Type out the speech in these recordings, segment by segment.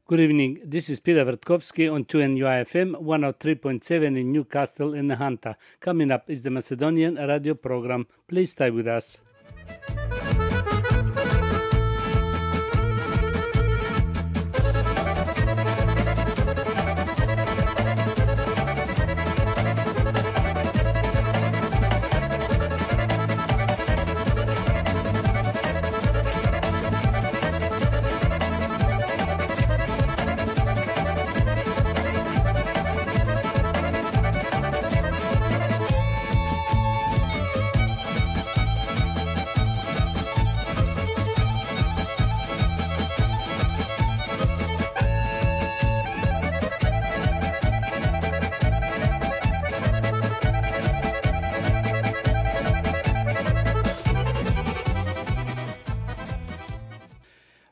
Good evening. This is Peter Vertkovsky on 2NUI-FM 103.7 in Newcastle in the Hunter. Coming up is the Macedonian radio program. Please stay with us.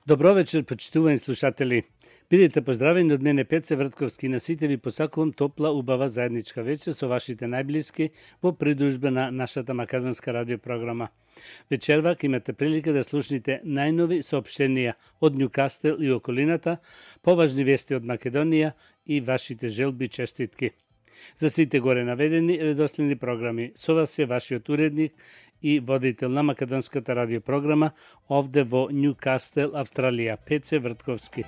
Добро вечер, почитувани слушатели. Бидете поздравени од мене Пеце Вртковски, на сите ви посакувам топла, убава заедничка вечер со вашите најблиски во придружба на нашата македонска радиопрограма. Вечервак имате прилика да слушнете најнови соопштенија од Ньюкастел и околината, поважни вести од Македонија и вашите желби и честитки. За сите горе наведени редоследни програми, со вас е вашиот уредник и водител на македонската радиопрограма овде во Ньюкастел, Австралија, Пеце Вртковски.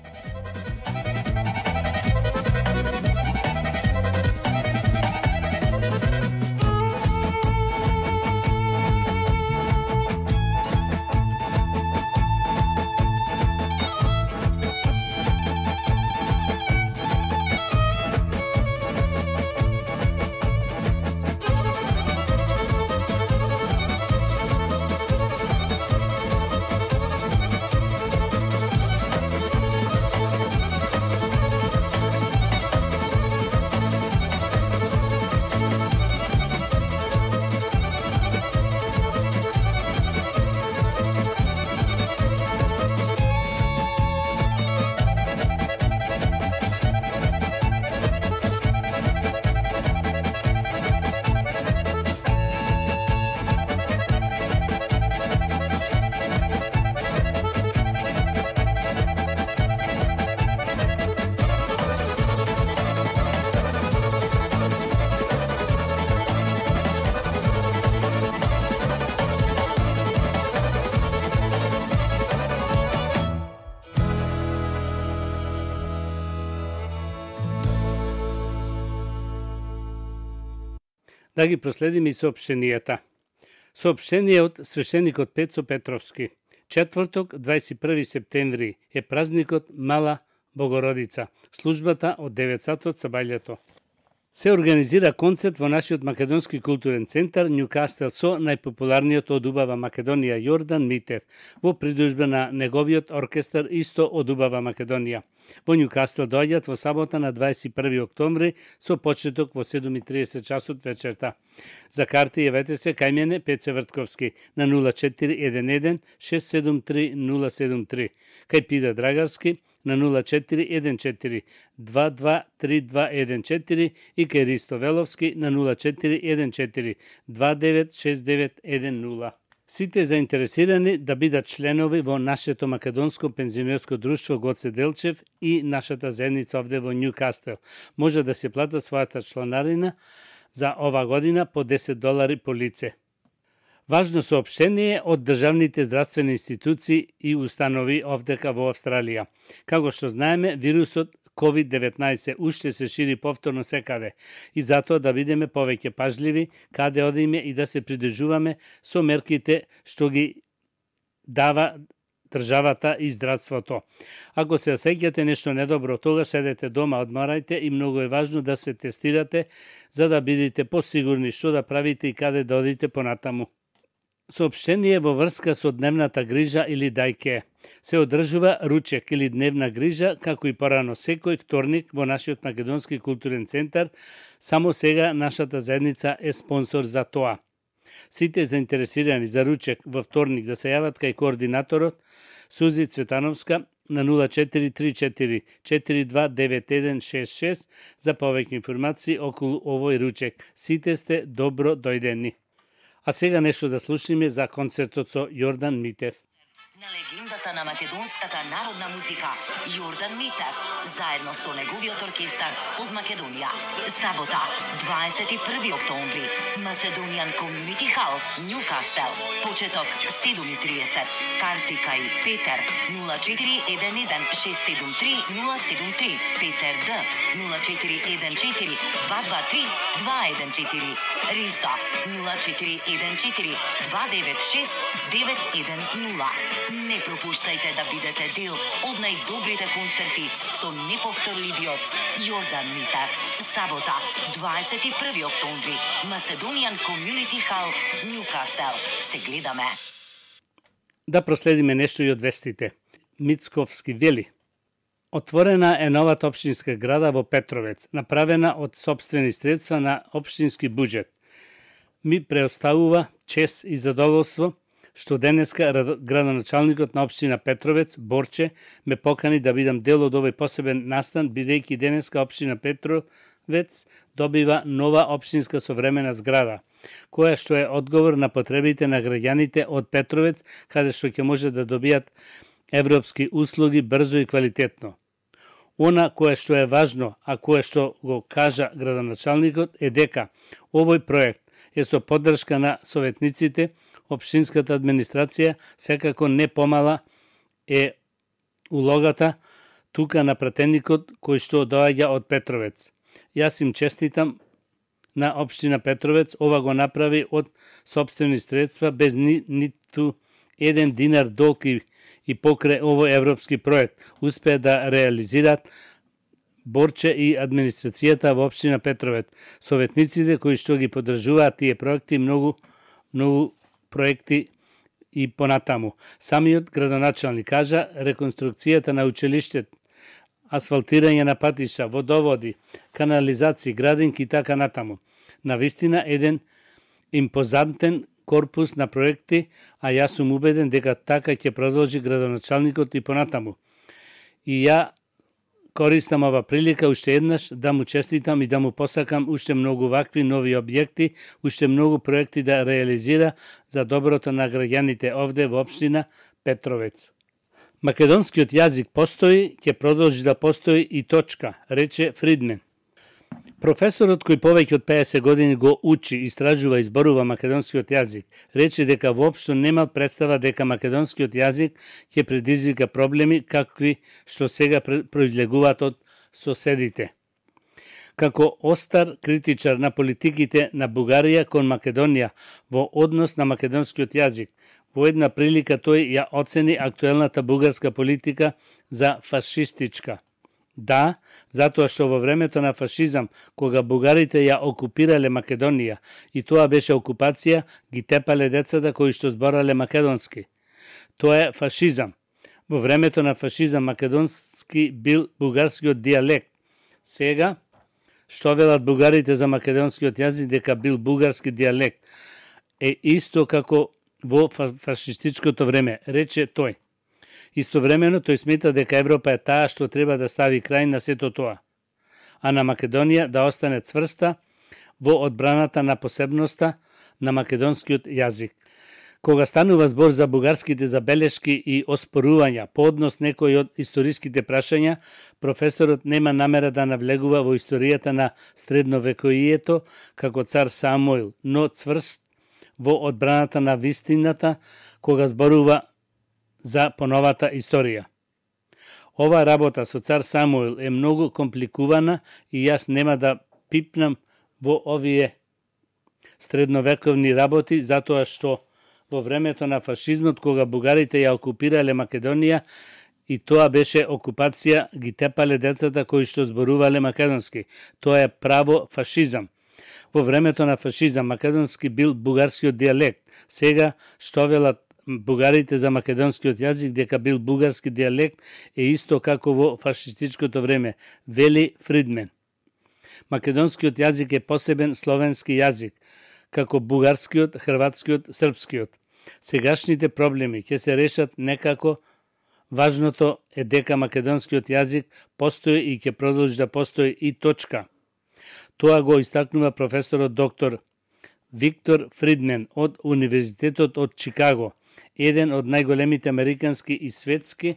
Да ги проследиме и соопштенијата. Соопштение од свештеникот Пецо Петровски. Четврток, 21 септември, е празникот Мала Богородица. Службата од 9 сатот сабајлето. Се организира концерт во нашиот македонски културен центар Ньюкастел со најпопуларниот од убава Македонија Јордан Митев, во придружба на неговиот оркестар исто од убава Македонија. Во Ньюкастел доаѓаат во сабота на 21 октомври со почеток во 7:30 часот вечерта. За карти јавете се кај мене Пеце Вртковски на 0411 673 073, кај Пида Драгарски на 0414 223214 и кај Ристо Веловски на 0414 296910. Сите заинтересирани да бидат членови во нашето македонско пензионерско друштво Гоце Делчев и нашата заедница овде во Ньюкастел може да се плата својата чланарина за ова година по $10 по лице. Важно соопштение од државните здравствени институции и установи овдека во Австралија. Како што знаеме, вирусот COVID-19 уште се шири повторно секаде и затоа да бидеме повеќе пажливи каде одиме и да се придржуваме со мерките што ги дава државата и здравството. Ако се осеќате нешто недобро, тогаш седете дома, одморајте и многу е важно да се тестирате за да бидете посигурни што да правите и каде да одите понатаму. Соопштение во врска со дневната грижа или дајке. Се одржува ручек или дневна грижа, како и порано секој вторник во нашиот македонски културен центар. Само сега нашата заедница е спонсор за тоа. Сите заинтересирани за ручек во вторник да се јават кај координаторот Сузи Цветановска на 0434 429166 за повеќе информации околу овој ручек. Сите сте добро дојдени. А сега нешто да слушнеме за концертот со Јордан Митев. легендата на македонската народна музика Јордан Митев, заедно со неговиот оркестар од Македонија. Сабота, 21 октомври, Macedonian Community Hall, Ньукастел. Почеток 7:30. Карти кај Петер 0411 673 073, Петер Д 0414 223 214, Риста 0414 296 910. Не пропуштајте да бидете дел од најдобрите концерти со неповторливиот Јордан Митев. Сабота, 21 октомври, Macedonian Community Hall, Ньукастел. Се гледаме. Да проследиме нешто и од вестите. Мицковски вели: отворена е новата општинска града во Петровец, направена од сопствени средства на општински буџет. Ми преоставува чест и задоволство што денеска градоначалникот на општина Петровец, Борче, ме покани да бидам дел од овој посебен настан, бидејќи денеска општина Петровец добива нова општинска современа зграда, која што е одговор на потребите на граѓаните од Петровец, каде што ќе може да добијат европски услуги брзо и квалитетно. Она кое што е важно, а кое што го кажа градоначалникот, е дека овој проект е со поддршка на советниците, општинската администрација, секако не помала е улогата тука на пратеникот кој што доаѓа од Петровец. Јас им честитам на општина Петровец, ова го направи од сопствени средства без ниту еден динар долг и покрај овој европски проект успеа да реализираат Борче и администрацијата во општина Петровец. Советниците кои што ги поддржуваат тие проекти, многу проекти и понатаму. Самиот градоначалник кажа реконструкцијата на училиштето, асфалтирање на патишта, водоводи, канализации, градинки и така натаму. Навистина еден импозантен корпус на проекти, а јас сум убеден дека така ќе продолжи градоначалникот и понатаму. И ја користам ова прилика уште еднаш да му честитам и да му посакам уште многу вакви нови објекти, уште многу проекти да реализира за доброто на граѓаните овде во општина Петровец. Македонскиот јазик постои, ќе продолжи да постои и точка, рече Фридмен. Професорот кој повеќе од 50 години го учи, истражува и зборува македонскиот јазик, рече дека воопшто нема представа дека македонскиот јазик ќе предизвика проблеми какви што сега произлегуваат од соседите. Како остар критичар на политиките на Бугарија кон Македонија во однос на македонскиот јазик, во една прилика тој ја оцени актуелната бугарска политика за фашистичка. Да, затоа што во времето на фашизам, кога бугарите ја окупирале Македонија, и тоа беше окупација, ги тепале децата кои што зборале македонски. Тоа е фашизам. Во времето на фашизам македонски бил бугарскиот дијалект. Сега, што велат бугарите за македонскиот јазик дека бил бугарски дијалект, е исто како во фашистичкото време, рече тој. Истовремено тој смета дека Европа е таа што треба да стави крај на сето тоа, а на Македонија да остане цврста во одбраната на посебноста на македонскиот јазик. Кога станува збор за бугарските забелешки и оспорувања по однос некои од историските прашања, професорот нема намера да навлегува во историјата на средновекоието како цар Самуил, но цврст во одбраната на вистината кога зборува за поновата историја. Ова работа со цар Самуил е многу компликувана и јас нема да пипнам во овие средновековни работи, затоа што во времето на фашизмот, кога бугарите ја окупирале Македонија, и тоа беше окупација, ги тепале децата кои што зборувале македонски. Тоа е право фашизам. Во времето на фашизам македонски бил бугарскиот дијалект. Сега што велат бугарите за македонскиот јазик дека бил бугарски дијалект е исто како во фашистичкото време, вели Фридмен. Македонскиот јазик е посебен словенски јазик, како бугарскиот, хрватскиот, српскиот. Сегашните проблеми ќе се решат некако. Важното е дека македонскиот јазик постои и ќе продолжи да постои и точка. Тоа го истакнува професорот доктор Виктор Фридмен од Универзитетот од Чикаго, еден од најголемите американски и светски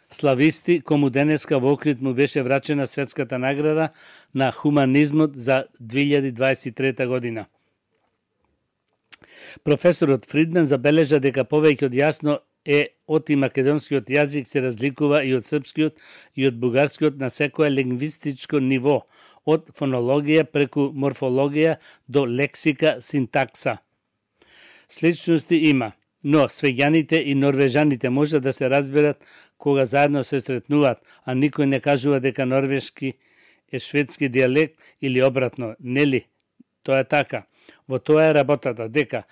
слависти, кому денеска во Охрид му беше врачена светската награда на хуманизмот за 2023 година. Професорот Фридман забележа дека повеќе од јасно е оти македонскиот јазик се разликува и од српскиот и од бугарскиот на секое лингвистичко ниво, од фонологија преку морфологија до лексика, синтакса. Сличности има, но свеѓаните и норвежаните може да се разберат кога заедно се сретнуваат, а никој не кажува дека норвешки е шведски дијалект или обратно, нели? Тоа е така. Во тоа е работата, дека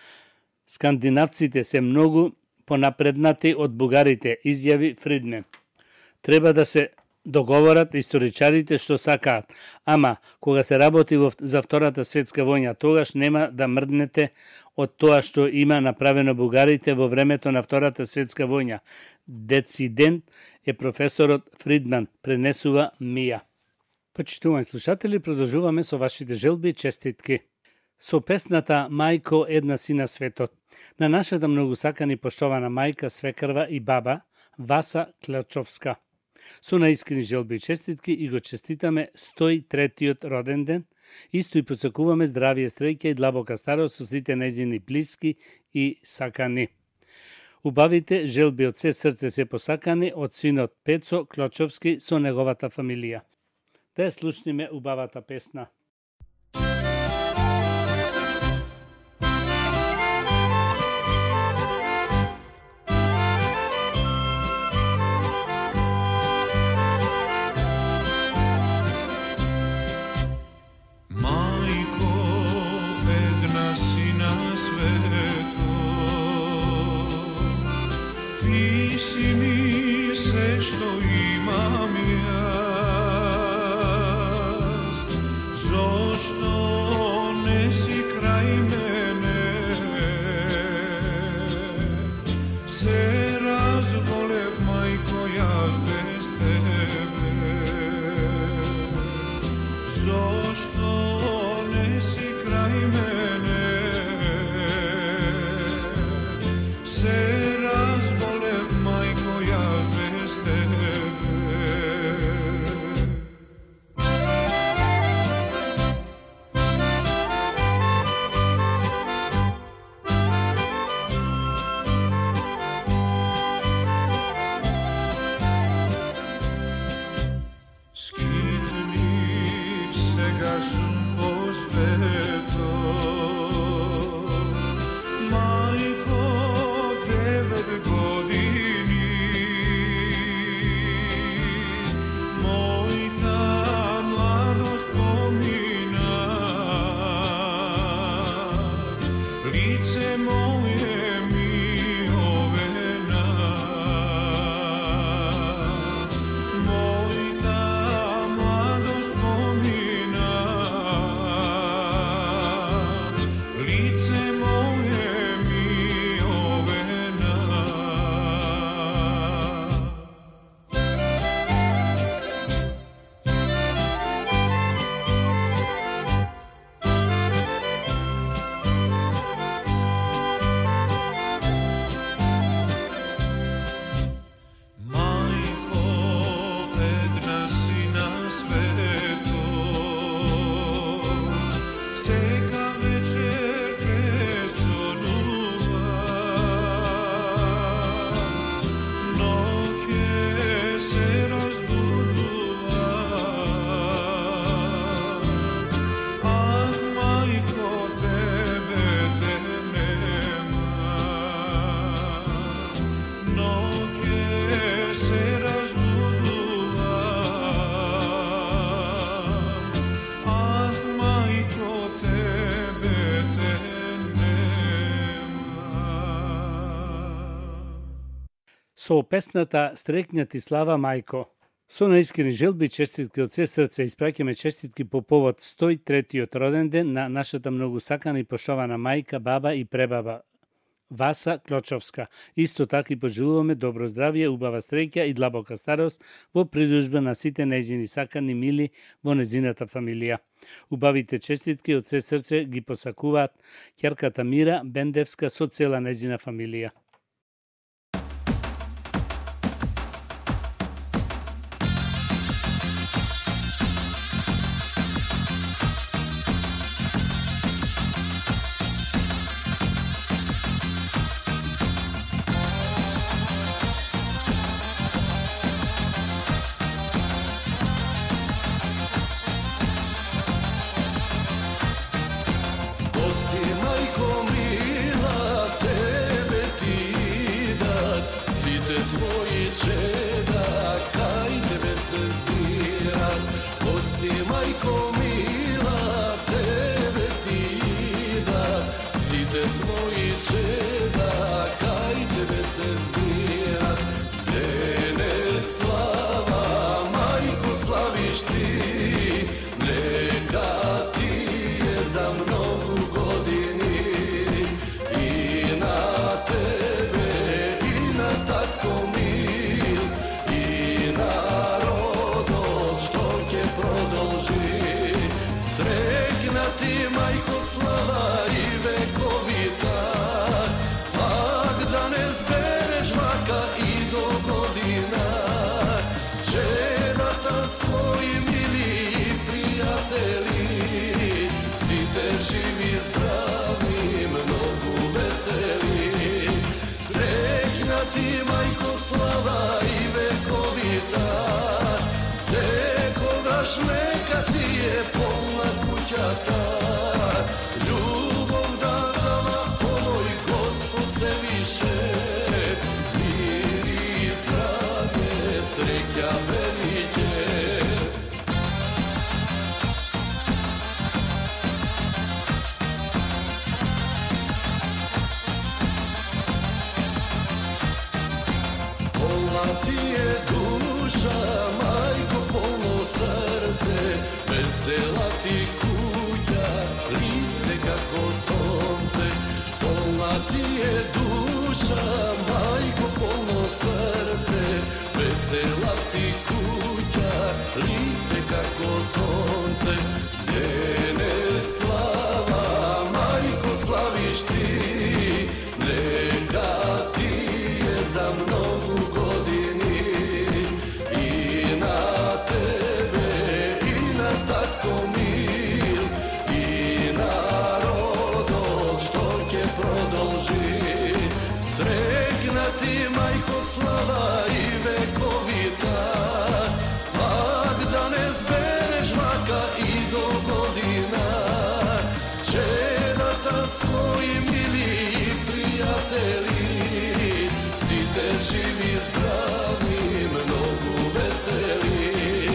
скандинавците се многу понапреднати од бугарите, изјави Фридман. Треба да се договорат историчарите што сакаат, ама кога се работи за Втората светска војна, тогаш нема да мрднете од тоа што има направено бугарите во времето на Втората светска војна. Децидент е професорот Фридман, пренесува Мија. Почитувани слушатели, продолжуваме со вашите желби и честитки. Со песната Мајко, една си на светот, на нашата многу сакана и поштована мајка, свекрва и баба Васа Клачовска. Со наискрени желби и честитки и го честитаме 103-тиот роден ден, исто и посакуваме здравие, среќа и длабока старост со сите нејзини блиски и сакани. Убавите желби од се срце се посакани од синот Пецо Клочовски со неговата фамилија. Да ја слушниме убавата песна. Што имам јас, зошто не си крај мене? Се разболев, мајко, јас без тебе. Зошто не си крај мене? Се разболев, мајко, јас без тебе. Скитник сега сум по светот, мајко, 9 години, мојта младост помина, лице моје ми овена, мојта младост помина, лице моје ми овена. Мајко, една си на светот, сека вечер те сонува, ноќе се разбудува. Ах, мајко, тебе те нема, ноќе се разбудува. Ах, мајко, тебе те нема. Со песната Стрекња ти слава мајко. Со наискрени желби и честитки од се срце испраќаме честитки по повод 103-тиот роден ден на нашата многу сакана и поштована мајка, баба и пребаба Васа Клочовска. Исто така и пожелуваме добро здравје, убава среќа и длабока старост во придружба на сите нејзини сакани мили во нејзината фамилија. Убавите честитки од се срце ги посакуваат ќерката Мира Бендевска со цела нејзина фамилија. Сите твои чеда кај тебе се збират. Гости, мајко мила, тебе ти идат. Сите твои чеда кај тебе се збират. Денес слава, мајко, славиш ти, нека ти е за многу години. И на тебе, и на татко мил, и народот што ќе продолжи. Среќна ти, мајко, слава и вековита, пак да не збереш вака и до година. Чедата своји мили и пријатели, сите живи, здрави, многу весели. Среќна ти, мајко, слава и вековита, секогаш нека ти е полна куќата. Љубов да дава овој Господ се више, мир и здраве, среќа велиќе. Полна ти е душа, мајко, полно срце, весела ти куќа, лице како сонце. Полна ти е душа, мајко, полно срце, весела ти куќа, лице како сонце. Денес слава, мајко, славиш ти, нека ти е за многу години. И на тебе, и на татко мил, и народот што ќе продолжи. Среќна ти, мајко, слава и вековита, пак да не збереш вака и до година. Чедата своји мили и пријатели, сите живи, здрави, многу весели.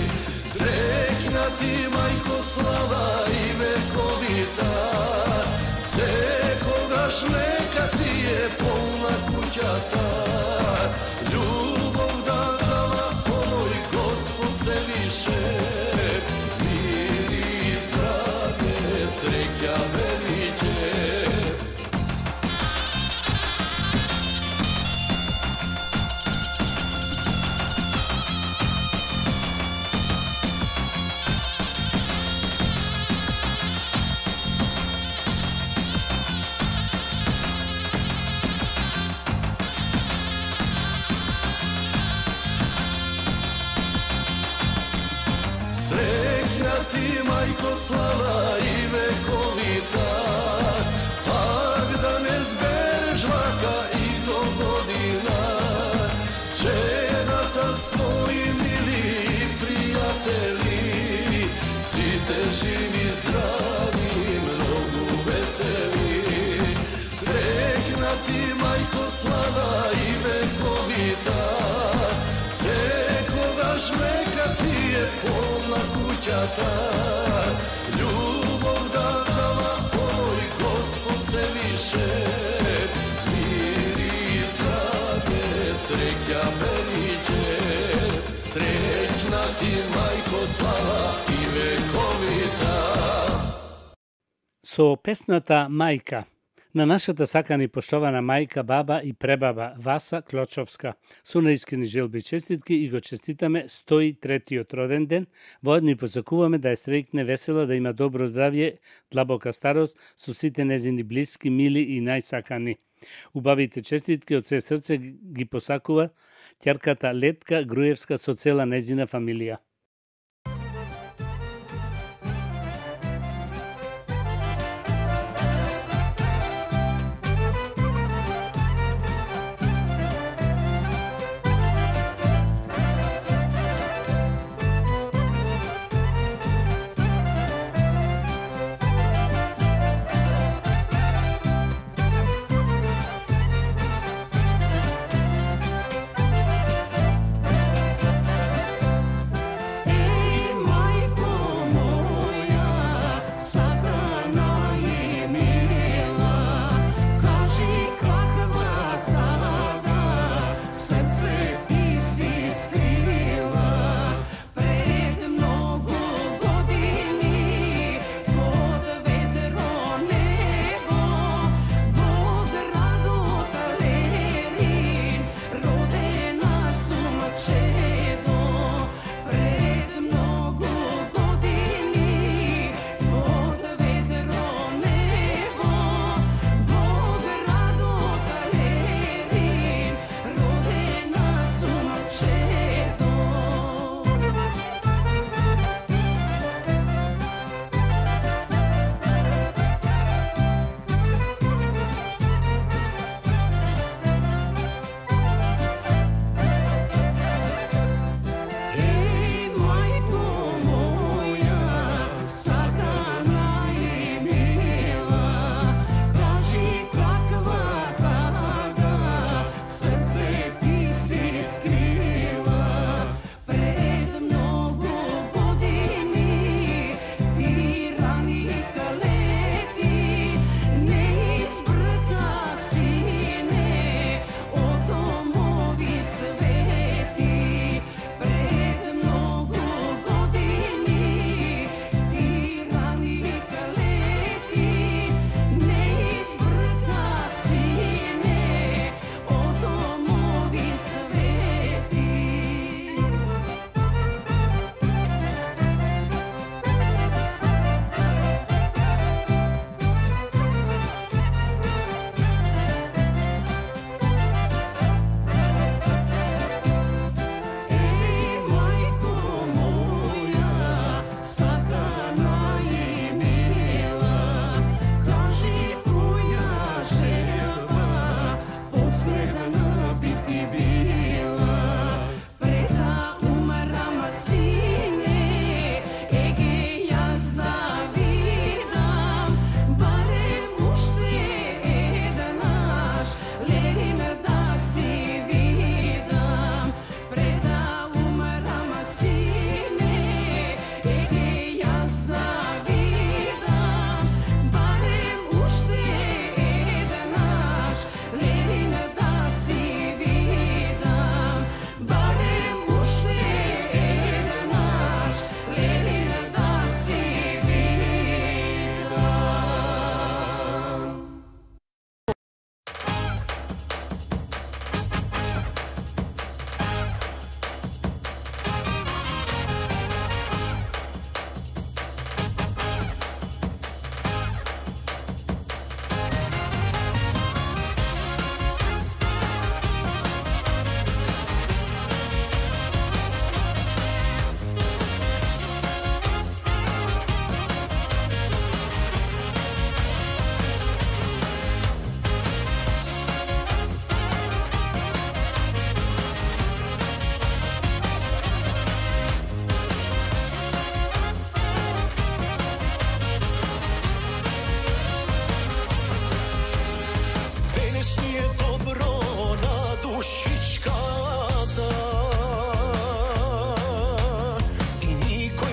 Среќна ти, мајко, слава и вековита, секогаш нека ти е полна куќата. Љубов да дава овој Господ се више, мир и здраве, среќа велиќе. Среќна ти, мајко, слава и вековита, пак да не збереш вака и до година. Чедата своји мили и пријатели, сите живи, здрави, многу весели. Среќна ти, мајко, слава и вековита, секогаш нека ти е полна куќата. Љубов да дава овој Господ се више, мир и здраве, среќа велиќе. Среќна ти, мајко, слава и вековита. Со песната Мајка на нашата сакана и поштована мајка, баба и пребаба Васа Клочовска. Со наискрени желби и честитки и го честитаме 103-тиот роден ден. Воедно и посакуваме да е среќна, весела, да има добро здравје, длабока старост со сите незини блиски, мили и најсакани. Убавите честитки од се срце ги посакува ќерката Летка Груевска со цела незина фамилија.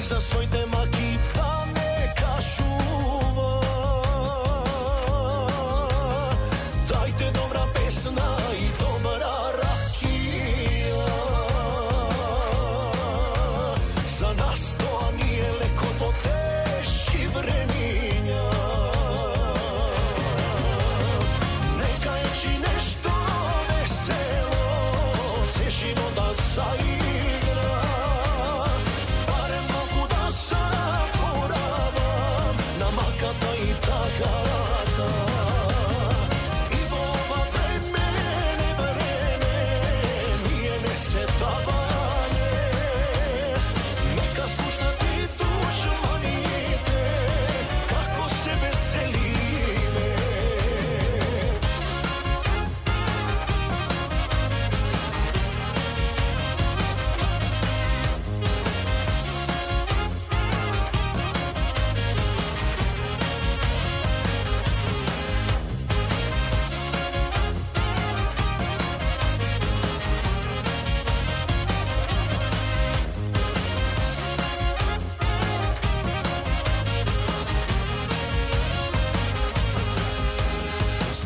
za своите маки да не кажува. Дайте добра песна и добра ракија. За нас тоа не е леко во тешки времиња. Нека ечи нешто весело се живота заигра.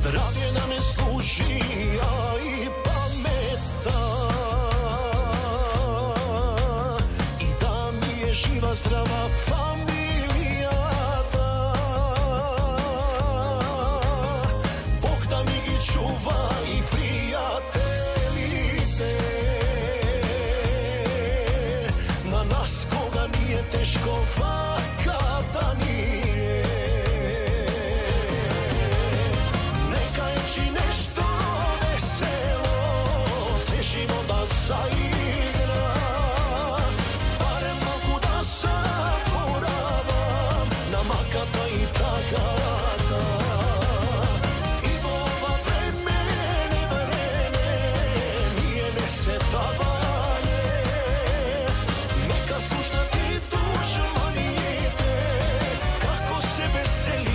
Здравје да ме служи, а и паметта, и да ми е жива здрава фамилијата. Бог да ми ги чува и пријателите, je teško kada nije. Neka je či nešto veselo, se život da zaigra, barem mogu da zaboravam na makata i takata. I ova vreme nije nesetavanje, neka slušna ti dušmanite, kako se veselime.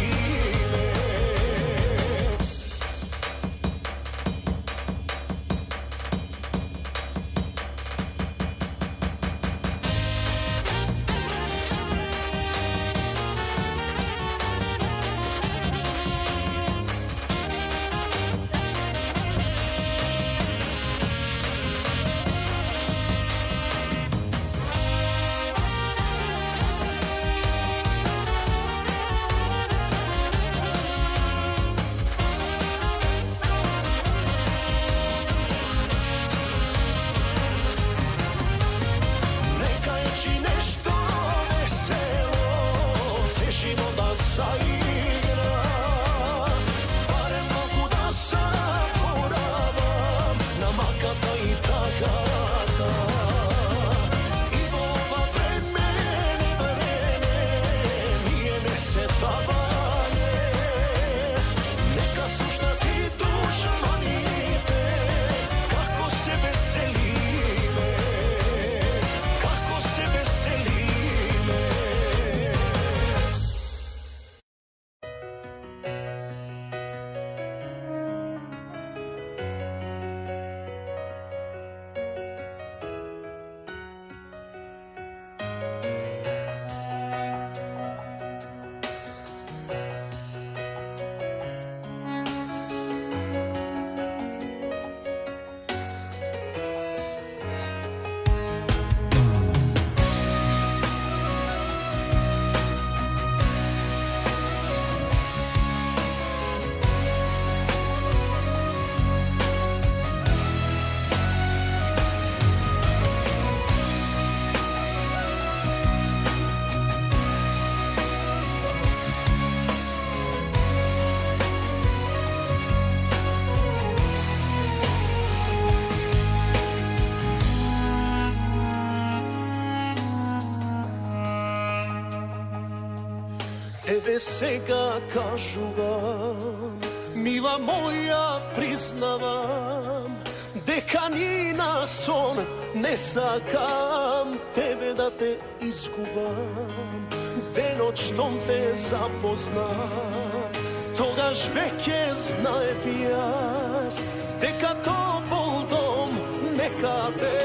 Еве сега кажувам, мила моја, признавам, дека ни на сон не сакам тебе да те изгубам. Денот штом те запознав, тогаш веќе знаев јас дека топол дом некаде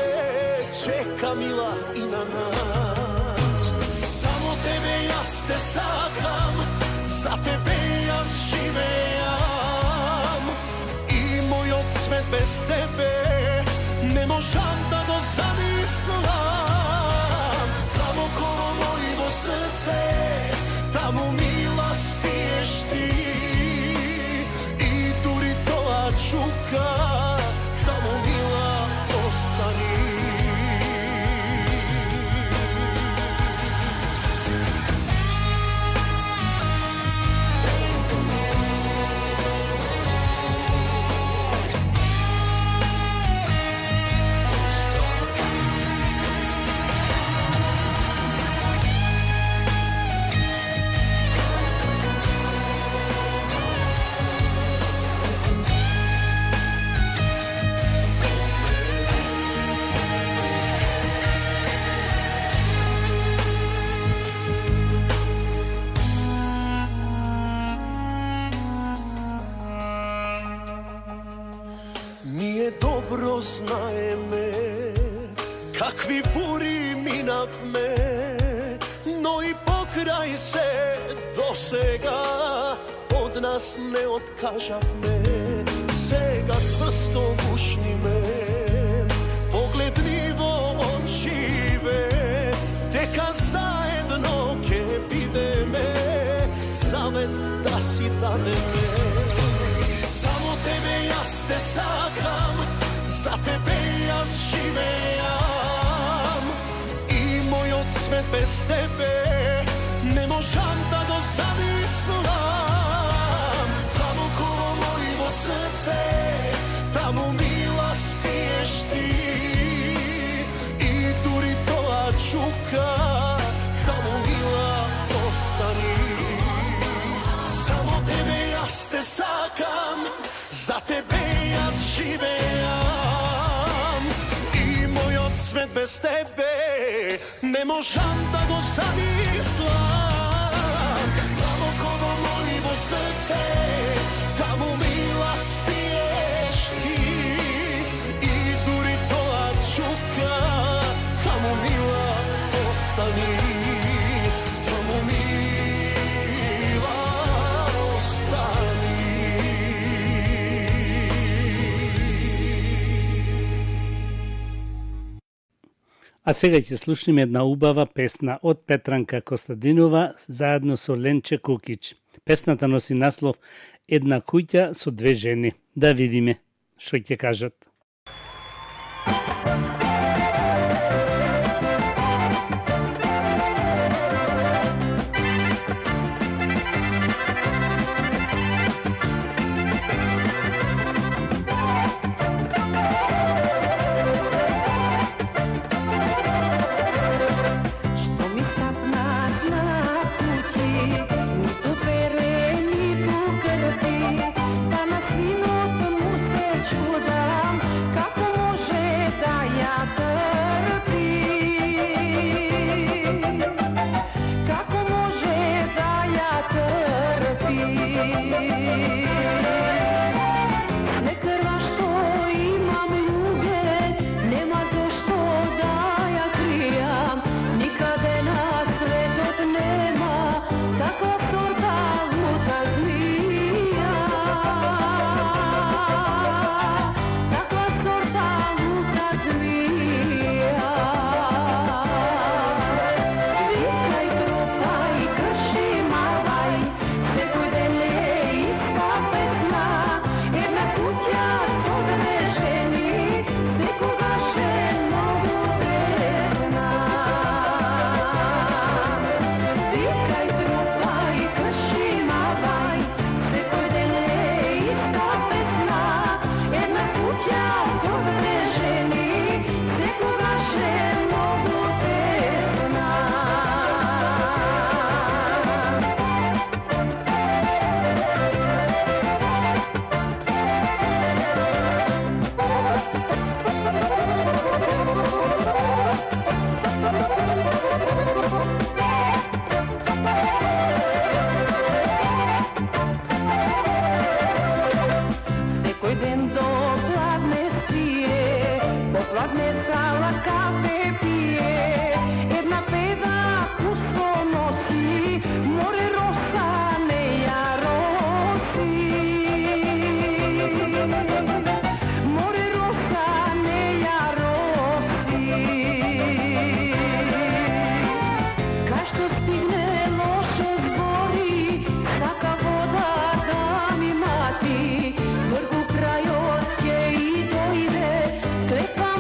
чека, мила, и на нас. Само тебе јас те сакам, за тебе јас живеам, и мојот свет без тебе не можам да го замислам. Таму коло мојго срце, таму, мила, спиеш ти, и дури тоа чука, таму, мила, остани. Добро знаеме какви бури минавме, но и покрај се досега од нас не откажавме. Сега цврсто гушниме, погледни во очиве, дека заедно ќе бидеме, завет да си дадеме. Само тебе јас те сакам, за тебе јас живеам, и мојот свет без без тебе не можам да го замислам. Длабоко мојво срце, таму мила спиеш ти, и дури тоа чука, таму мила остани. Само тебе јас те сакам, за тебе јас живеам, и мојот свет без тебе не можам да го замислам. Длабоко во мојво срце, таму мила спиеш ти, и дури тоа чука, таму мила остани. Таму мила остани. А сега ќе слушнеме една убава песна од Петранка Костадинова заедно со Ленче Кукич. Песната носи наслов Една куќа со две жени. Да видиме што ќе кажат.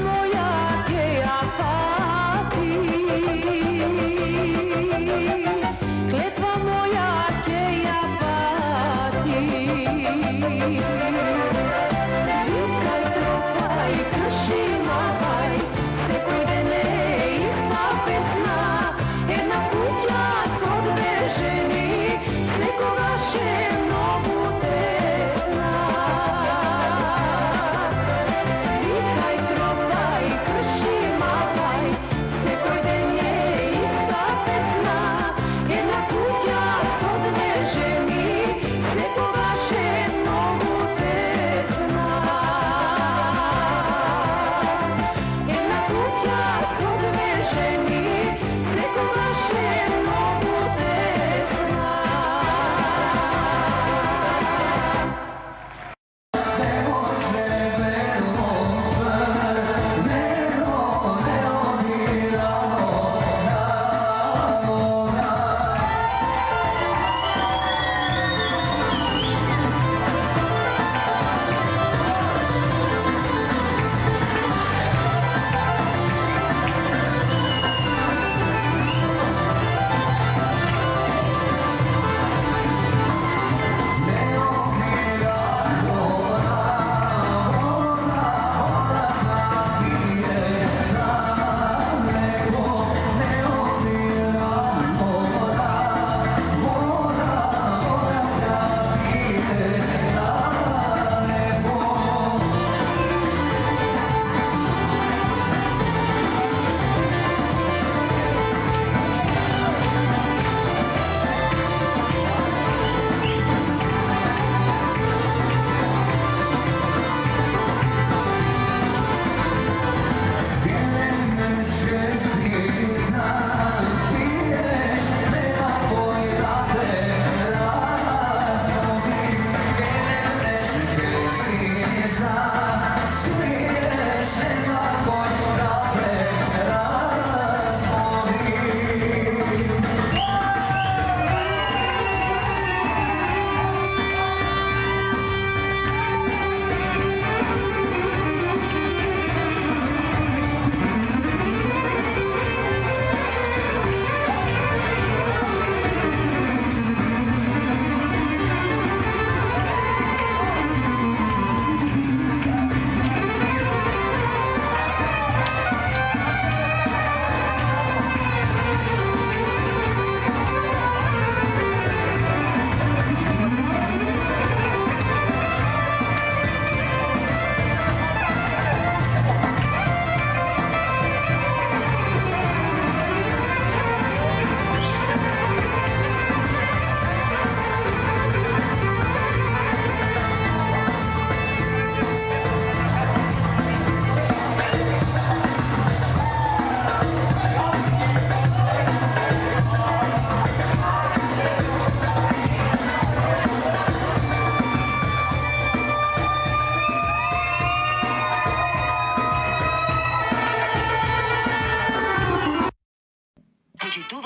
Moja, que a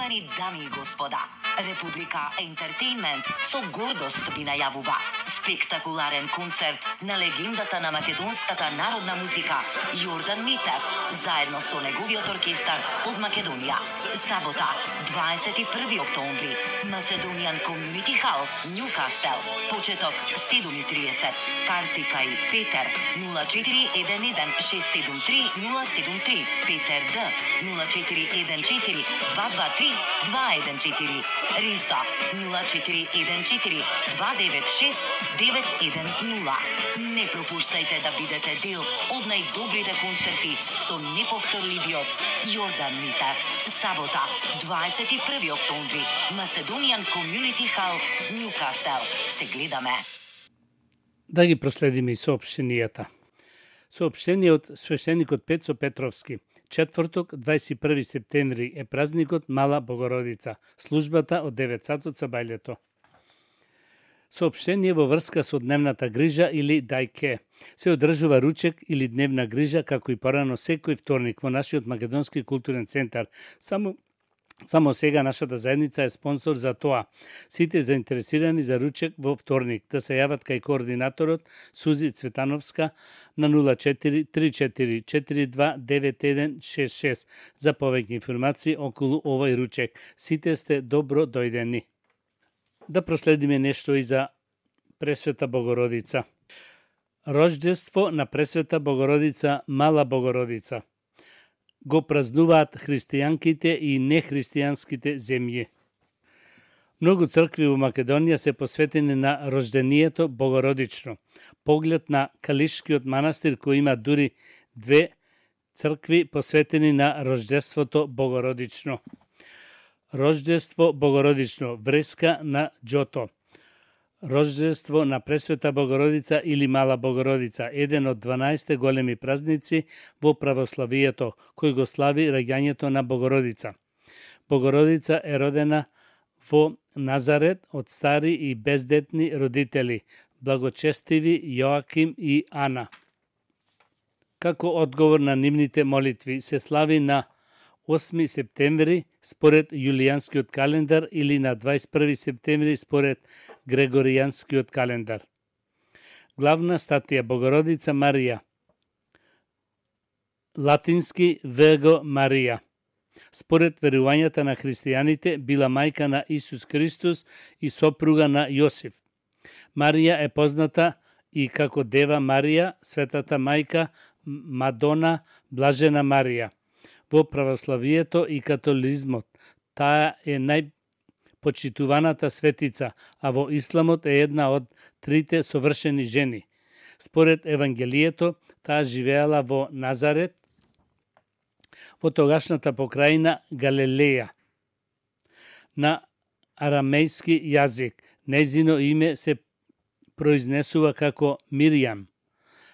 Почитувани дами и господа, Република Ентертејнмент со гордост ви најавува спектакуларен концерт на легендата на македонската народна музика Јордан Митев, заедно со неговиот оркестар од Македонија. Сабота, 21 октомври, Macedonian Community Hall, Ньукастел. Почеток 7:30. Карти кај Петер 0411 673 073, Петер Д 0414 223 214, Риста 0414 296 910. Не пропуштајте да бидете дел од најдобрите концерти со неповторливиот Јордан Митев. Сабота, 21 октомври, Macedonian Community Hall, Ньукастел. Се гледаме. Да ги проследиме и соопштенијата. Соопштение од свештеникот Пецо Петровски. Четврток, 21 септември е празникот Мала Богородица. Службата од 9 сатот со бајлето. Соопштение во врска со дневната грижа или дајке. Се одржува ручек или дневна грижа како и порано секој вторник во нашиот македонски културен центар. Само сега нашата заедница е спонсор за тоа. Сите заинтересирани за ручек во вторник да се јават кај координаторот Сузи Цветановска на 0434429166 за повеќе информации околу овој ручек. Сите сте добро дојдени. Да проследиме нешто и за Пресвета Богородица. Рождество на Пресвета Богородица, Мала Богородица. Го празнуваат христијанките и нехристијанските земји. Многу цркви во Македонија се посветени на рождението Богородично. Поглед на Калишкиот манастир кој има дури 2 цркви посветени на рождеството Богородично. Рождество Богородично, вреска на Џото. Рождество на Пресвета Богородица или Мала Богородица, еден од 12 големи празници во православието, кој го слави раѓањето на Богородица. Богородица е родена во Назарет од стари и бездетни родители, благочестиви Јоаким и Ана. Како одговор на нивните молитви се слави на 8 септември според јулијанскиот календар или на 21 септември според грегоријанскиот календар. Главна статија Богородица Марија. Латински Вего Марија. Според верувањата на христијаните била мајка на Исус Христос и сопруга на Јосиф. Марија е позната и како Дева Марија, Светата мајка, Мадона, Блажена Марија. Во православието и католизмот таа е најпочитуваната светица, а во исламот е една од 3 совршени жени. Според Евангелието, таа живеела во Назарет, во тогашната покрајна Галилеја. На арамејски јазик, нејзино име се произнесува како Миријам.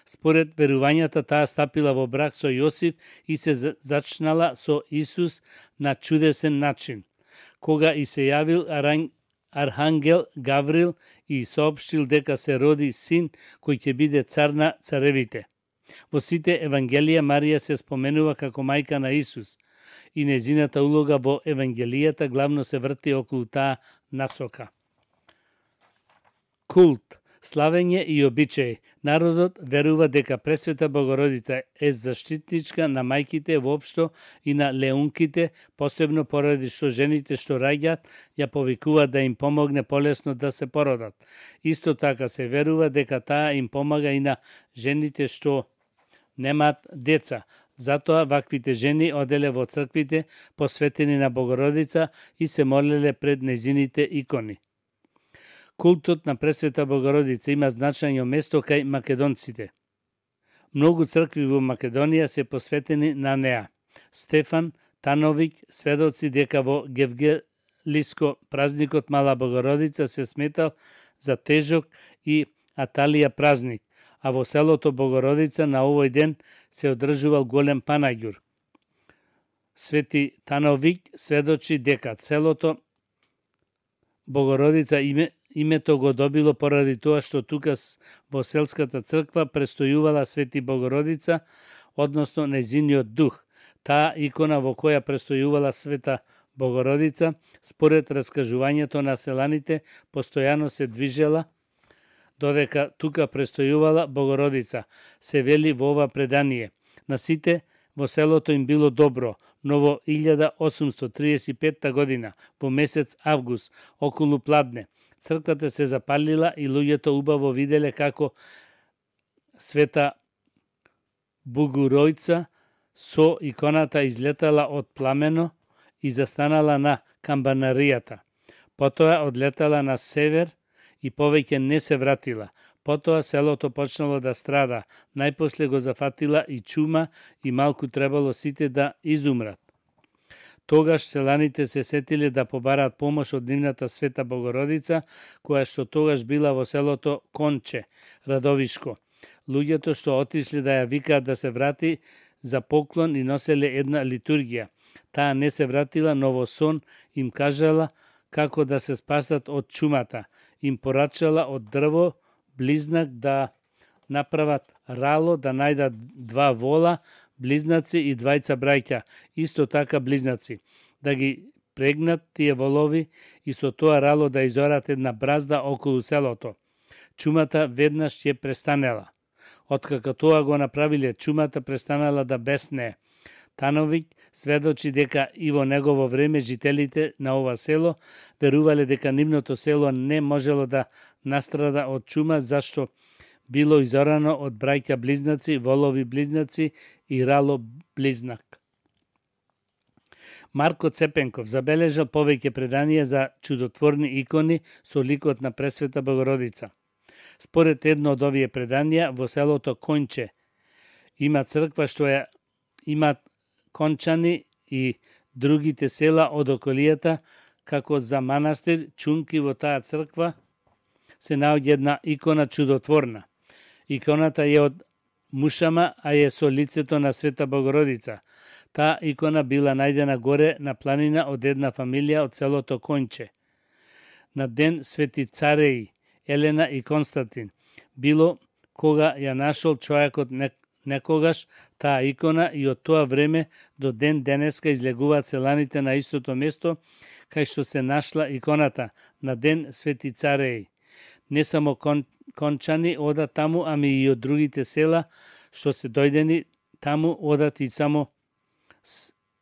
Според верувањата таа стапила во брак со Јосиф и се зачнала со Исус на чудесен начин. Кога и се јавил архангел Гаврил и соопштил дека се роди син кој ќе биде цар на царевите. Во сите Евангелија Марија се споменува како мајка на Исус и нејзината улога во Евангелијата главно се врти околу таа насока. Култ, славење и обичаи. Народот верува дека Пресвета Богородица е заштитничка на мајките воопшто и на леунките, посебно поради што жените што раѓаат ја повикуваат да им помогне полесно да се породат. Исто така се верува дека таа им помага и на жените што немаат деца. Затоа ваквите жени оделе во црквите посветени на Богородица и се молеле пред нејзините икони. Култот на Пресвета Богородица има значајно место кај македонците. Многу цркви во Македонија се посветени на неа. Стефан Тановиќ сведоци дека во Гевгелиско празникот Мала Богородица се сметал за тежок и Аталија празник, а во селото Богородица на овој ден се одржувал голем панаѓур. Свети Тановиќ сведочи дека селото Богородица името го добило поради тоа што тука во селската црква престојувала Свети Богородица, односно нејзиниот дух. Таа икона во која престојувала Света Богородица, според раскажувањето на селаните, постојано се движела додека тука престојувала Богородица, се вели во ова предание. На сите во селото им било добро, но во 1835 година, во месец август, околу пладне, црквата се запалила и луѓето убаво виделе како Света Богоројца со иконата излетала од пламено и застанала на камбанаријата. Потоа одлетала на север и повеќе не се вратила. Потоа селото почнало да страда, најпосле го зафатила и чума и малку требало сите да изумрат. Тогаш селаните се сетиле да побараат помош од нивната Света Богородица, која што тогаш била во селото Конче, Радовишко. Луѓето што отишли да ја викаат да се врати за поклон и носеле една литургија. Таа не се вратила, но во сон им кажала како да се спасат од чумата. Им порачала од дрво близнак да направат рало, да најдат 2 вола, близнаци и 2 браќа, исто така близнаци, да ги прегнат тие волови и со тоа рало да изорат една бразда околу селото. Чумата веднаш ќе престанела. Откако тоа го направиле, чумата престанала да беснее. Тановиќ сведочи дека и во негово време жителите на ова село верувале дека нивното село не можело да настрада од чума, зашто било изорано од браќа близнаци, волови близнаци и рало близнак. Марко Цепенков забележал повеќе преданија за чудотворни икони со ликот на Пресвета Богородица. Според едно од овие преданија, во селото Конче има црква што ја имат кончани и другите села од околијата, како за манастир Чунки во таа црква се наоѓа една икона чудотворна. Иконата е од мушама, а е со лицето на Света Богородица. Таа икона била најдена горе на планина од една фамилија од селото Конче. На ден Свети Цареи, Елена и Константин, било кога ја нашол човекот некогаш таа икона и од тоа време до ден денеска излегуваат селаните на истото место кај што се нашла иконата на ден Свети Цареи. Не само кончани одат таму, ами и од другите села што се дојдени таму одат и само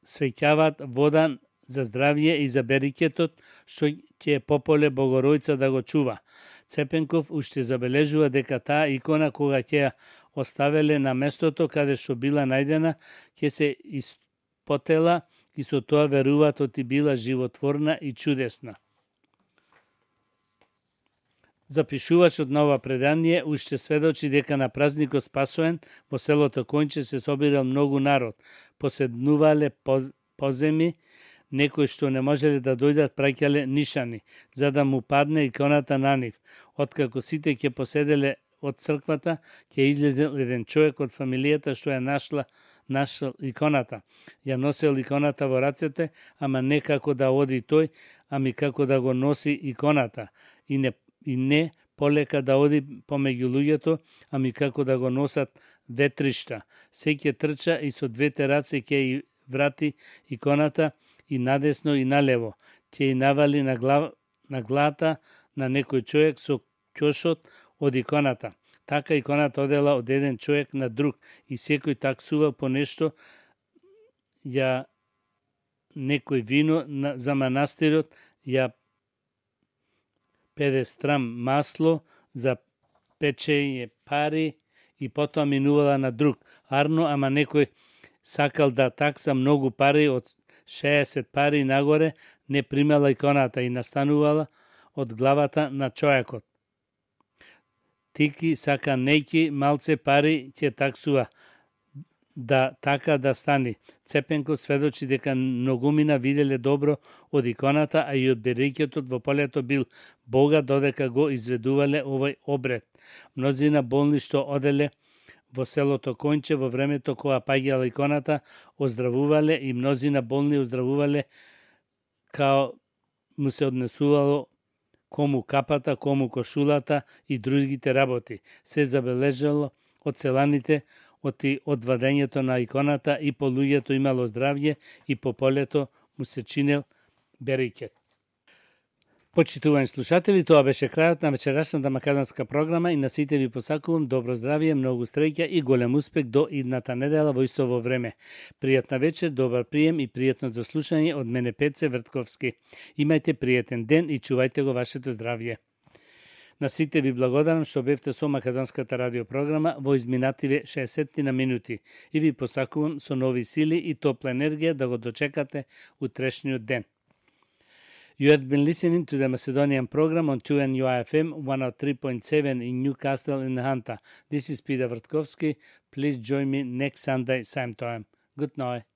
свеќаваат вода за здравје и за берикетот што ќе пополе Богоројца да го чува. Цепенков уште забележува дека таа икона кога ќе ја оставеле на местото каде што била најдена, ќе се испотела и со тоа веруваат оти била животворна и чудесна. Запишувачот на ова предание уште сведочи дека на празникот Спасоен во селото Конче се собирал многу народ, поседнувале поземи, некои што не можеле да дојдат праќале нишани, за да му падне иконата на нив. Откако сите ќе поседеле од црквата, ќе излезел еден човек од фамилијата што ја нашла иконата. Ја носел иконата во рацете, ама не како да оди тој, ами како да го носи иконата. И не полека да оди помеѓу луѓето, ами како да го носат ветришта. Се ќе трча и со 2 раце ќе и врати иконата и надесно и налево. Ќе и навали на главата на некој човек со ќошот од иконата. Така иконата одела од еден човек на друг и секој таксува по нешто, ја некој вино за манастирот, ја педестрам масло за печење пари и потоа минувала на друг. Арно, ама некој сакал да такса многу пари, од 60 пари нагоре, не примала иконата и настанувала од главата на човекот. Тики сака нејки малце пари ќе таксува, да така да стани. Цепенков сведочи дека многумина виделе добро од иконата, а и од берикетот во полето бил богат додека го изведувале овој обред. Мнозина болни што оделе во селото Конче во времето кога паѓала иконата, оздравувале и мнозина болни оздравувале као му се однесувало кому капата, кому кошулата и другите работи. Се забележало од селаните од вадењето на иконата и по луѓето имало здравје и по полето му се чинел Берикет. Почитувани слушатели, тоа беше крајот на вечерашната македонска програма и на сите ви посакувам добро здравие, многу среќа и голем успех до идната недела во истово време. Пријатна вечер, добар прием и пријатно дослушање од мене Пеце Вртковски. Имајте пријатен ден и чувајте го вашето здравје. На сите ви благодарам што бевте со македонската радиопрограма во изминативе 60 на минути и ви посакувам со нови сили и топла енергија да го дочекате утрешниот ден. You have been listening to the Macedonian program on 2NUI-FM 103.7 in Newcastle in Hunter. This is Peter Vrtkovski. Please join me next Sunday, same time. Good night.